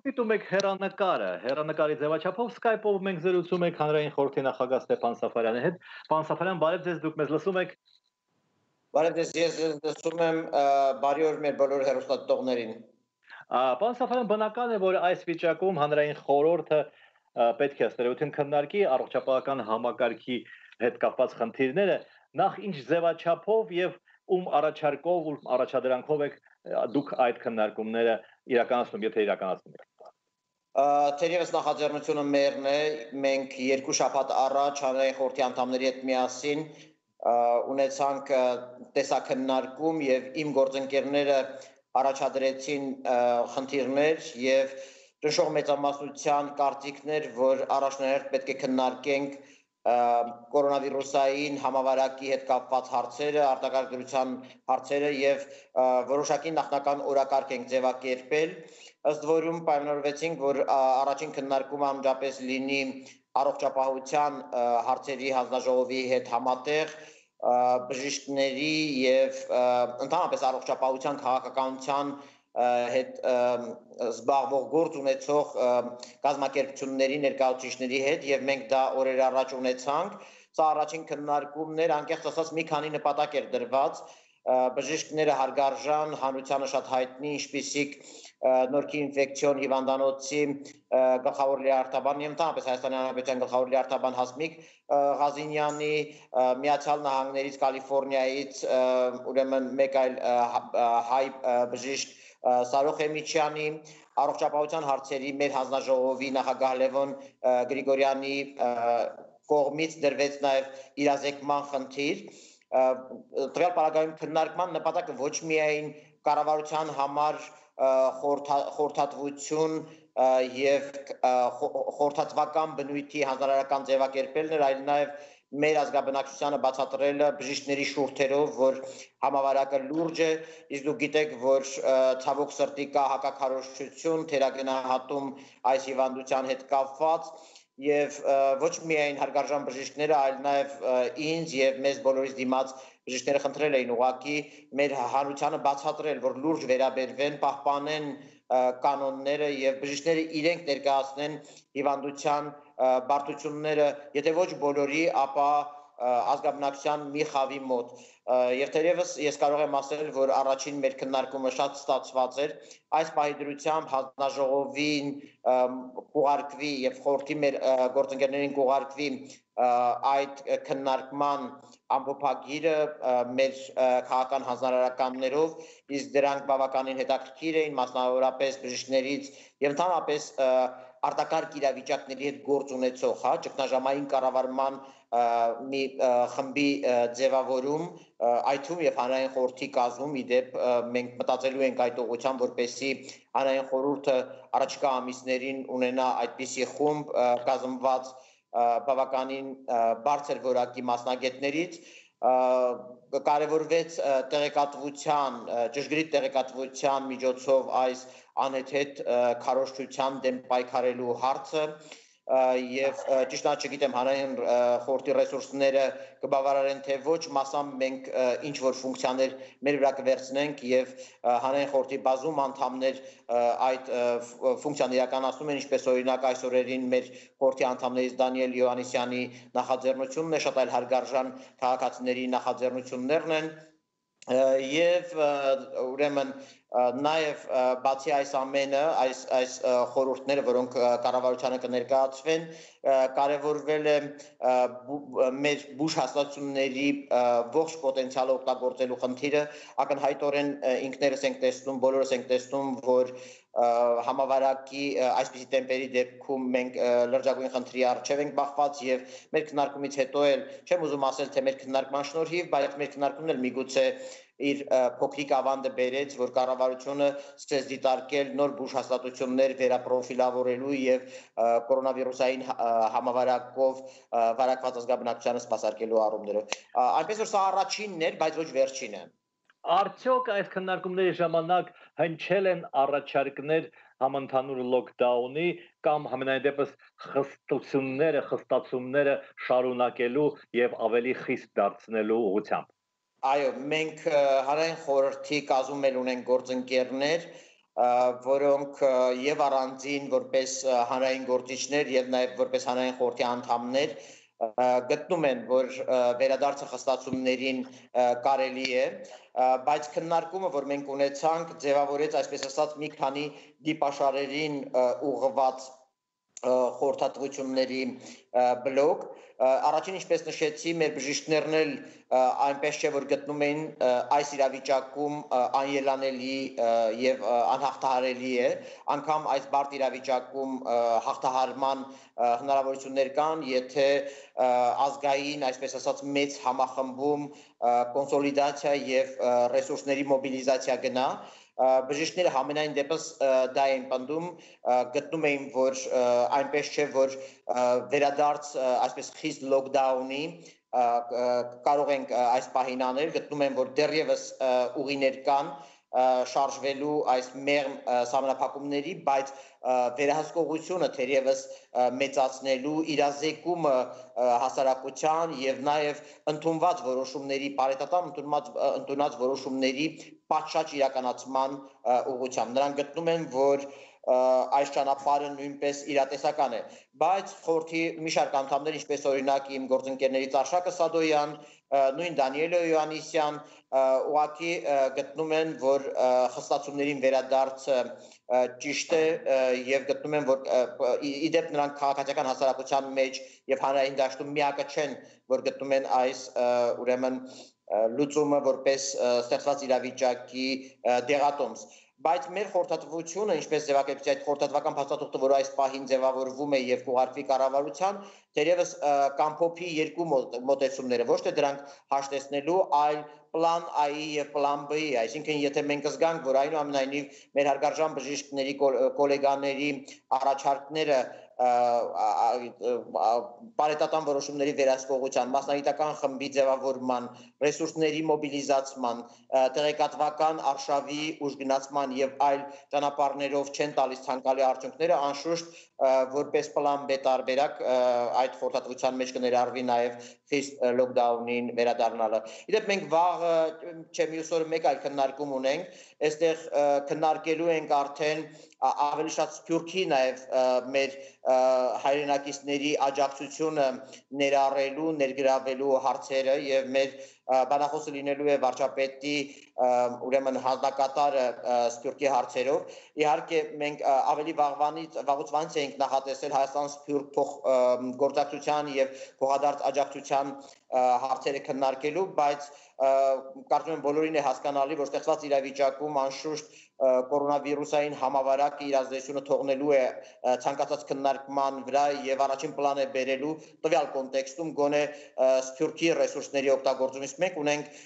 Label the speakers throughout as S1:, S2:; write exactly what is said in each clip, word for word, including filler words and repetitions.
S1: դիտում եք հեռանկարը, հեռանկարի ձևաչափով Skype-ով մենք զրուցում ենք հանրային խորհրդի նախագահ Ստեփան Սաֆարյանի հետ։ Պարոն Սաֆարյան, բարև ձեզ, դուք մեզ լսում եք։
S2: Բարև ձեզ, ես լսում եմ, բարի օր մեր բոլոր հեռուստադիտողներին։
S1: Պարոն Սաֆարյան, բնական է, որ այս վիճակում հանրային խորհուրդը պետք է ըստ քննարկի առողջապահական համակարգի հետ կապված խնդիրները, նախ ինչ ձևաչափով եւ ում առաջարկով ու առաջադրանքով եք դուք այդ քննարկումները իրականացնում, եթե իրականացնում եք։
S2: Թերևս նախաձեռնությունը մերն է, մենք երկու շաբաթ առաջ հանրային խորհրդի անդամների հետ միասին ունեցանք տեսաքննարկում եւ իմ գործընկերները առաջադրեցին խնդիրներ եւ ճշող մեծամասնության կարծիքներ, որ առաջնահերթ պետք է քննարկենք կորոնավիրուսային համավարակի հետ կապված հարցերը, արտակարգ դրության հարցերը եւ որոշակի նախնական օրակարգ ենք ձևակերպել, ըստ որում պայմանավորվեցինք, որ առաջին քննարկումը անմիջապես լինի առողջապահության հարցերի հանձնաժողովի հետ համատեղ, բժիշկների եւ ընդհանրապես առողջապահության քաղաքականության հետ զբաղվող գործ ունեցող կազմակերպությունների ներկայացուցիչների հետ եւ մենք դա օրեր առաջ ունեցանք։ Սա առաջին քննարկումն էր, անկեղծ ասած մի քանի նպատակ էր դրված, բժիշկները հարգարժան, հանրությանը շատ հայտնի, ինչպիսիք նորքի ինֆեկցիոն հիվանդանոցի գլխավոր լիարդաբան եւ ընդհանրապես Հայաստանի Հանրապետության գլխավոր լիարդաբան Հասմիկ Ղազինյանի, Միացյալ Նահանգներից, Կալիֆոռնիայից, ուրեմն մեկ այլ հայ բժիշկ Սարոխ Էմիչյանի, առողջապահության հարցերի մեր հանձնաժողովի նախագահ Լևոն Գրիգորյանի կողմից դրվեց նաեւ իրազեկման խնդիր։ Տվյալ պարագայում քննարկման նպատակը ոչ միայն կառավարության համար խորհրդատվություն եւ խորհրդատվական բնույթի հանրարարական ձևակերպելն էր, այլ նաեւ մեր ազգաբնակչությանը բացատրելը բժիշկների շուրթերով, որ համավարակը լուրջ է, իսկ դուք գիտեք, որ ցավոք սրտի կա հակաքարոզչություն, թերագնահատում այս հիվանդության հետ կապված եւ ոչ միայն հարգարժան բժիշկները, այլ նաեւ ինձ եւ մեզ բոլորիս դիմաց բժիշկները խնդրել էին ուղղակի մեր հանրությանը բացատրել, որ լուրջ վերաբերվեն, պահպանեն կանոնները եւ բժիշկները իրենք ներկայացնեն հիվանդության բարդությունները, եթե ոչ բոլորի, ապա ազգաբնակչության մի խավի մոտ։ Եվ թերևս ես կարող եմ ասել, որ առաջին մեր քննարկումը շատ ստացված էր, այս պահի դրությամբ հանձնաժողովին կուղարկվի եւ խորհրդի մեր գործընկերներին կուղարկվի այդ քննարկման ամփոփագիրը մեր քաղաքական հանձնարարականներով, իսկ դրանք բավականին հետաքրքիր էին, մասնավորապես բժիշկներից եւ ընդհանրապես արտակարգ իրավիճակների հետ գործ ունեցող, հա, ճգնաժամային կառավարման մի խմբի ձևավորում, այդ թվում եւ հանրային խորհրդի կազմում, իդեպ մենք մտածելու ենք այդ ուղղությամբ, որպեսզի հանրային խորհուրդը առաջիկա ամիսներին ունենա այդպիսի խումբ կազմված բավականին բարձր որակի մասնագետներից, կարևորվեց տեղեկատվության, ճշգրիտ տեղեկատվության միջոցով այս անհեթեթ քարոզչության դեմ պայքարելու հարցը եւ ճիշտ չգիտեմ հանրային խորհրդի ռեսուրսները կբավարարեն թե ոչ, մասամբ մենք ինչ որ ֆունկցիաներ մեր վրա կվերցնենք եւ հանրային խորհրդի բազում անդամներ այդ ֆունկցիան իրականացնում են, ինչպես օրինակ այս օրերին մեր խորհրդի անդամներից Դանիել Յոհաննիսյանի նախաձեռնությունն է, շատ այլ հարգարժան քաղաքացիների նախաձեռնություններն են եւ ուրեմն նաեւ բացի այս ամենը, այս այս խորհուրդները, որոնք կառավարությանը կներկայացվեն, կարևորվել է մեր բուժ հաստատությունների ողջ պոտենցիալը օգտագործելու խնդիրը, ակնհայտորեն ինքներս ենք տեսնում, բոլորս ենք տեսնում, որ համավարակի այսպիսի տեմպերի դեպքում մենք լրջագույն խնդրի առջև ենք բախված եւ մեր քննարկումից հետո էլ չեմ ուզում ասել, թե մեր քննարկման շնորհիվ, բայց մեր քննարկումն էլ միգուցե իր փոքրիկ ավանդը բերեց, որ կառավարությունը սկսեց դիտարկել նոր բուժհաստատություններ վերապրոֆիլավորելու եւ կորոնավիրուսային համավարակով վարակված ազգաբնակչությանը սպասարկելու առումներով։ Այնպես որ սա առաջինն էր, բայց ոչ վերջինը։
S1: Արդյոք այս քննարկումների ժամանակ հնչել են առաջարկներ համընդհանուր լոկդաունի կամ համենայն դեպս խստությունները, խստացումները շարունակելու եւ ավելի խիստ դարձնելու ուղղությամբ։
S2: Այո, մենք հանրային խորհրդի կազմում էլ ունենք գործընկերներ, որոնք եւ առանձին որպես հանրային գործիչներ եւ նաեւ որպես հանրային խորհրդի անդամներ գտնում են, որ վերադարձը խստացումներին կարելի է, բայց քննարկումը, որ մենք ունեցանք, ձևավորեց, այսպես ասած, մի քանի դիպաշարերին ուղղված խորհրդատվությունների բլոկ, առաջին ինչպես նշեցի, մեր բժիշկներն էլ այնպես չէ, որ գտնում էին այս իրավիճակում անելանելի եւ անհաղթահարելի է, անգամ այս բարդ իրավիճակում հաղթահարման հնարավորություններ կան, եթե ազգային, այսպես ասած, մեծ համախմբում կոնսոլիդացիա եւ ռեսուրսների մոբիլիզացիա գնա, բժիշկները համենայն դեպս դա են պնդում, գտնում էին, որ այնպես չէ, որ վերադարձ այսպես խիստ լոկդաունի կարող ենք այս պահին անել, գտնում են, որ դեռևս ուղիներ կան շարժվելու այս մեղմ սահմանափակումների, բայց վերահսկողությունը թերևս մեծացնելու իրազեկումը հասարակության եւ նաեւ ընդունված որոշումների բարետատամ ընդունած որոշումների պատշաճ իրականացման ուղղությամբ նրանք գտնում են, որ այս ճանապարհը նույնպես իրատեսական է, բայց խորհրդի մի շարք անդամներ, ինչպես օրինակ իմ գործընկերներից Արշակը Սադոյան, նույն Դանիելը Յոհաննիսյան, ուղղակի գտնում են, որ խստացումներին վերադարձը ճիշտ է եւ գտնում են, որ իդեպ նրանք քաղաքացիական հասարակության մեջ եւ հանրային դաշտում միակը չեն, որ գտնում են այս ուրեմն լուծումը որպես ստեղծված իրավիճակի դեղատոմս, բայց մեր խորհրդատվությունը, ինչպես ձևակերպեցի այդ խորհրդատվական փաստաթուղթը, որ այս պահին ձևավորվում է եւ կուղարկվի կառավարության, դերևս կամփոփի երկու մոտեցումները, ոչ թե դրանք հաշտեցնելու, այլ պլան A-ի եւ պլան B-ի, այսինքն եթե մենք զգանք, որ այնուամենայնիվ մեր հարգարժան բժիշկների գոլեգաների առաջարկները բարետատան որոշումների վերահսկողության, մասնագիտական խմբի ձևավորման, ռեսուրսների մոբիլիզացման, տեղեկատվական արշավի ուժգնացման եւ այլ ճանապարհներով չեն տալիս ցանկալի արդյունքները, անշուշտ որպես պլան B տարբերակ այդ խորհրդատվության մեջ կներառվի նաեւ խիստ լոկդաունին վերադառնալը։ Իդեպ մենք վաղ չէ մյուս օրը մեկ այլ քննարկում ունենք, այստեղ քննարկելու ենք արդեն ավելի շատ Սփյուռքի նաև մեր հայրենակիցների աջակցությունը ներառելու, ներգրավելու հարցերը եւ մեր բանախոսը լինելու է վարչապետի ուրեմն հանձնակատարը Սփյուռքի հարցերով։ Իհարկե մենք ավելի վաղվանից վաղուց էինք նախատեսել Հայաստան-Սփյուռք փոխգործակցության եւ փոխադարձ աջակցության հարցերը քննարկելու, բայց կարծում եմ բոլորին է հասկանալի, որ ստեղծված իրավիճակում անշուշտ կորոնավիրուսային համավարակը իր ազդեցությունը թողնելու է ցանկացած քննարկման վրա եւ առաջին պլան է բերելու տվյալ կոնտեքստում գոնե Սփյուռքի ռեսուրսների օգտագործումից մենք ունենք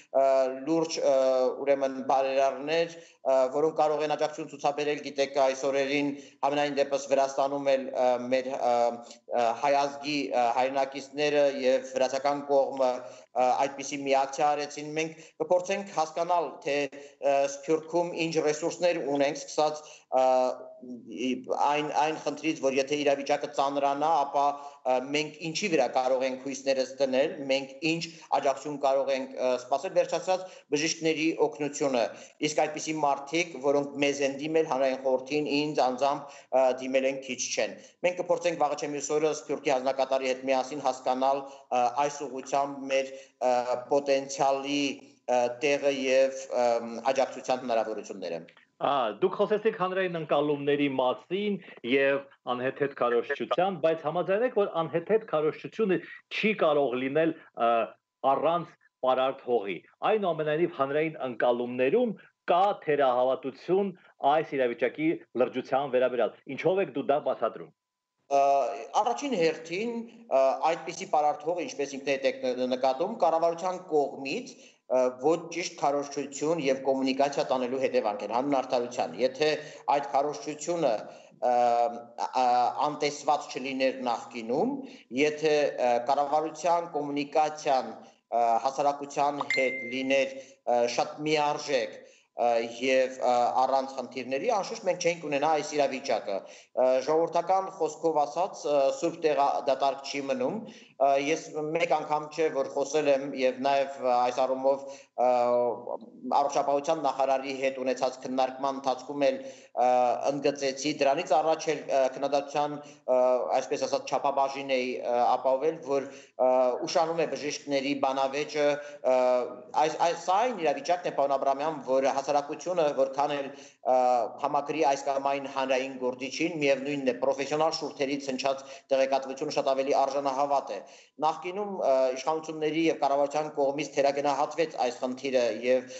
S2: լուրջ ուրեմն բարերարներ, որոնք կարող են աջակցություն ցուցաբերել, գիտեք, այս օրերին ամենայն դեպս Վրաստանում էլ մեր հայ ազգի հայրենակիցները եւ վրացական կողմը այդպիսի միակցիա արեցին, մենք կփորձենք հասկանալ, թե Սփյուռքում ինչ ռեսուրսներ ունենք, սկսած այն այն խնդրից, որ եթե իրավիճակը ծանրանա, ապա մենք ինչի վրա կարող ենք հույսներս դնել, մենք ինչ աջակցություն կարող ենք սպասել, վերջացած բժիշկների օգնությունը, իսկ այդպիսի մարդիկ, որոնք մեզ են դիմել հանրային խորհրդին, ինձ անձամբ դիմել են քիչ չեն։ Մենք կփորձենք վաղը չէ մյուս օրը Սփյուռքի հանձնակատարի հետ միասին հասկանալ այս ուղղությամբ մեր պոտենցիալի տեղը եւ աջակցության հնարավորությունները։
S1: Դուք խոսեցիք հանրային ընկալումների մասին եւ անհեթեթ քարոզչության, բայց համաձայնեք, որ անհեթեթ քարոզչությունը չի կարող լինել առանց պարարտ հողի։ Այնուամենայնիվ հանրային ընկալումներում կա թերահավատություն այս իրավիճակի լրջության վերաբերյալ։ Ինչով եք դու դա բացատրում։
S2: Առաջին հերթին այդպիսի պարարտ հողը, ինչպես ինքն եք նկատում, կառավարության կողմից ոչ ճիշտ քարոզչություն եւ կոմունիկացիա տանելու հետևանք են հանուն արդարության։ Եթե այդ քարոզչությունը անտեսված չլիներ նախկինում, եթե կառավարության կոմունիկացիան հասարակության հետ լիներ շատ միարժեք, եւ առանց խնդիրների անշուշտ մենք չենք ունենա այս իրավիճակը ժողովրդական խոսքով ասած սուրբ տեղը դատարկ չի մնում ես մեկ անգամ չէ որ խոսել եմ եւ նաեւ այս առումով առողջապահության նախարարի հետ ունեցած քննարկման ընթացքում էլ ընդգծեցի դրանից առաջ էլ քննադատության այսպես ասած չափաբաժին էի ապահովել որ ուշանում է բժիշկների բանավեճը այս այս այն իրավիճակն է պարոն Աբրամյան որ հասարակությունը որքան էլ համակրի այս կամ այն հանրային գործիչին միևնույնն է պրոֆեսիոնալ շուրթերից հնչած տեղեկատվությունը շատ ավելի արժանահավատ է նախկինում իշխանությունների եւ կառավարության կողմից թերագնահատվեց այս խնդիրը եւ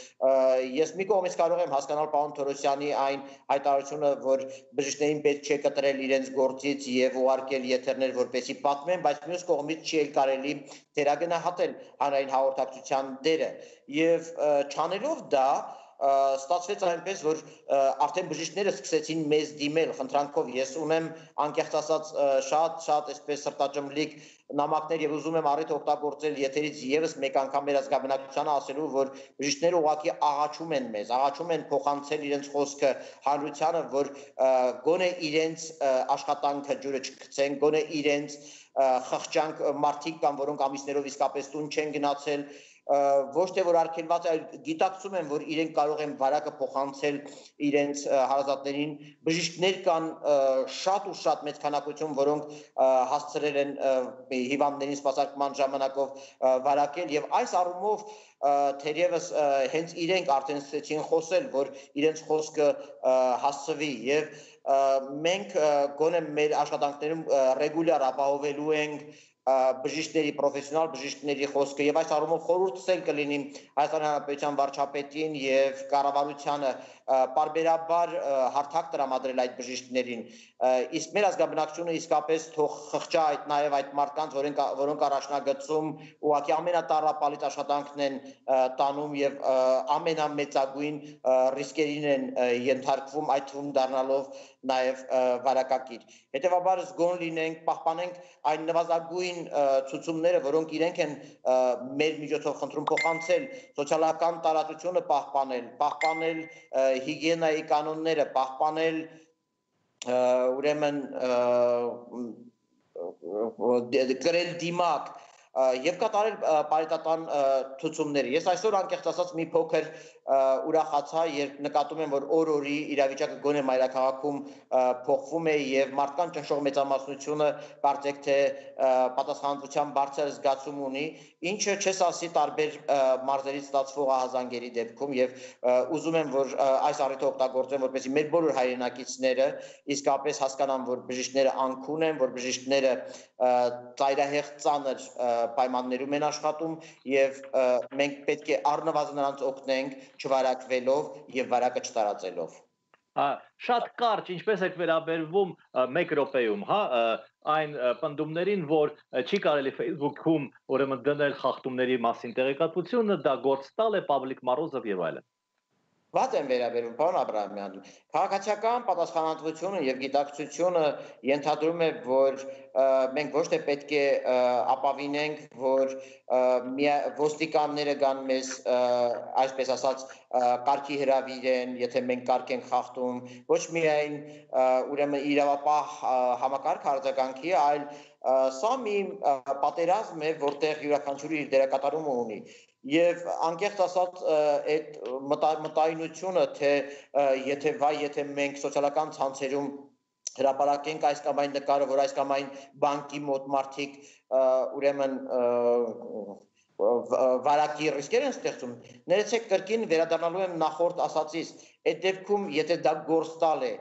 S2: ես մի կողմից կարող եմ հասկանալ պարոն Թորոսյանի այն հայտարարությունը որ բժիշկներին պետք չէ կտրել իրենց գործից եւ ուղարկել եթերներ որպեսի պատմեն բայց մյուս կողմից չի էլ կարելի թերագնահատել հանրային հաղորդակցության դերը եւ չանելով դա ստացվեց այնպես որ արդեն բժիշկները սկսեցին մեզ դիմել խնդրանքով ես ունեմ անկեղծ ասած շատ շատ այսպես սրտաճմլիկ նամակներ եւ ուզում եմ առիթ օգտագործել եթերից եւս մեկ անգամ մեր ազգաբնակչությանը ասելու որ բժիշկները ուղղակի աղաչում են մեզ աղաչում են փոխանցել իրենց խոսքը հանրությանը որ գոնե իրենց աշխատանքը ջուրը չգցեն գոնե իրենց խղճանք մարդիկ կամ որոնք ամիսներով իսկապես տուն չեն գնացել ոչ թե որ արգելված է գիտակցում են որ իրենք կարող են վարակը փոխանցել իրենց հարազատներին բժիշկներ կան շատ ու շատ մեծ քանակություն որոնք հասցրել են հիվանդներին սպասարկման ժամանակով վարակել եւ այս առումով թերևս հենց իրենք արդեն սկսեցին խոսել որ իրենց խոսքը հասցվի եւ մենք գոնե մեր աշխատանքներում ռեգուլյար ապահովելու ենք բժիշկների պրոֆեսիոնալ բժիշկների խոսքը եւ այս առումով խորհուրդել կլինի Հայաստանի Հանրապետության վարչապետին եւ կառավարությանը պարբերաբար հարթակ տրամադրել այդ բժիշկներին իսկ մեր ազգաբնակչությունը իսկապես թող խղճա այդ նաեւ այդ մարդկանց որոնք որոնք առաջնագծում ուղղակի ամենատարապալից աշխատանքն են տանում եւ ամենամեծագույն ռիսկերին են ենթարկվում այդ թվում դառնալով նաեւ վարակակիր հետեւաբար զգոն լինենք պահպանենք այն նվազագույն ցուցումները որոնք իրենք են մեր միջոցով խնդրում փոխանցել սոցիալական տարածությունը պահպանել պահպանել հիգիենայի կանոնները պահպանել ուրեմն գրել դիմակ եւ կատարել պարիտատան ցուցումներ ես այսօր անկեղծ ասած մի փոքր ուրախացա երբ նկատում եմ որ օր-օրի իրավիճակը գոնե մայրաքաղաքում փոխվում է եւ մարդկանց ճնշող մեծամասնությունը կարծեք թե պատասխանատվության բարձր զգացում ունի ինչը չես ասի տարբեր մարզերից ստացվող ահազանգերի դեպքում եւ ուզում եմ որ այս առիթը օգտագործեմ որպեսզի մեր բոլոր հայրենակիցները իսկապես հասկանան որ բժիշկները անքուն են որ բժիշկները ծայրահեղ ծանր պայմաններում են աշխատում եւ մենք պետք է առնվազն նրանց օգնենք չվարակվելով եւ վարակը չտարածելով
S1: շատ կարճ ինչպես եք վերաբերվում մեկ րոպեում հա այն պնդումներին որ չի կարելի Facebook-ում ուրեմն դնել խախտումների մասին տեղեկատվությունը դա գործ տալ է Պավլիկ Մարոզով եւ այլն
S2: Ված են վերաբերում պարոն Աբրահամյան քաղաքացիական պատասխանատվությունը եւ գիտակցությունը ենթադրում է որ մենք ոչ թե պետք է ապավինենք որ ոստիկանները գան մեզ այսպես ասած կարգի հրավիրեն եթե մենք կարգ ենք խախտում ոչ միայն ուրեմն իրավապահ համակարգ արձագանքի այլ սա մի պատերազմ է որտեղ յուրաքանչյուրը իր դերակատարումը ունի Եվ անկեղծ ասած այդ մտայնությունը թե եթե վայ եթե մենք սոցիալական ցանցերում հրապարակենք այս կամ այն նկարը որ այս կամ այն բանկի մոտ մարդիկ ուրեմն վարակի ռիսկեր են ստեղծում ներեցեք կրկին վերադառնալու եմ նախորդ ասածից այդ դեպքում եթե դա գործ տալ է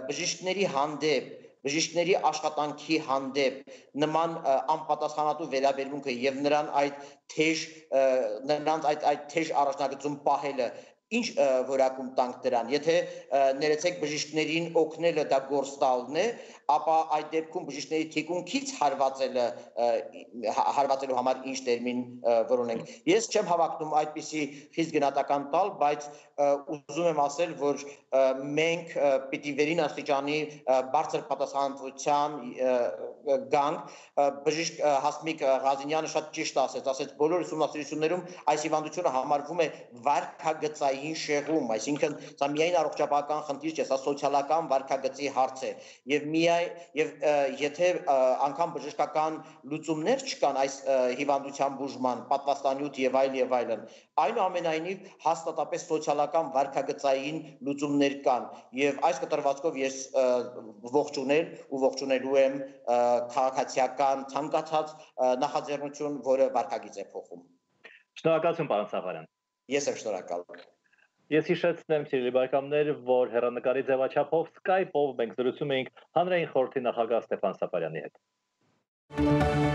S2: բժիշկների հանդեպ բժիշկների աշխատանքի հանդեպ նման անպատասխանատու վերաբերմունքը եւ նրան այդ թեժ նրանց այդ այդ թեժ առաջնագծում պահելը ինչ որակում տանք դրան եթե ներեցեք բժիշկներին օգնելը դա գործ տալն է ապա այդ դեպքում բժիշկների թիկունքից հարվածելը հարվածելու համար ինչ տերմին որոնենք ես չեմ հավակնում այդպիսի խիստ գնահատական տալ բայց ուզում եմ ասել որ մենք պիտի վերին աստիճանի բարձր պատասխանատվության գանք բժիշկ Հասմիկ Ղազինյանը շատ ճիշտ ասեց ասեց բոլոր ուսումնասիրություններում այս հիվանդությունը համարվում է վարքագծային սոցիալային շեղում, այսինքն սա միայն առողջապահական խնդիր չէ, սա սոցիալական վարքագծի հարց է եւ միայն եւ եթե անգամ բժշկական լուծումներ չկան այս հիվանդության բուժման, պատվաստանյութ եւ այլ եւ այլն, այնուամենայնիվ հաստատապես սոցիալական վարքագծային լուծումներ կան եւ այս կտրվածքով ես ողջունել ու ողջունելու եմ քաղաքացիական ցանկացած նախաձեռնություն, որը վարքագիծ է փոխում։
S1: Շնորհակալություն, պարոն Սաֆարյան։
S2: Ես եմ շնորհակալ։
S1: Ես հիշեցնեմ, սիրելի բարեկամներ, որ հեռանկարի ձևաչափով Skype-ով մենք զրուցում էինք հանրային խորհրդի նախագահ Ստեփան Սաֆարյանի հետ։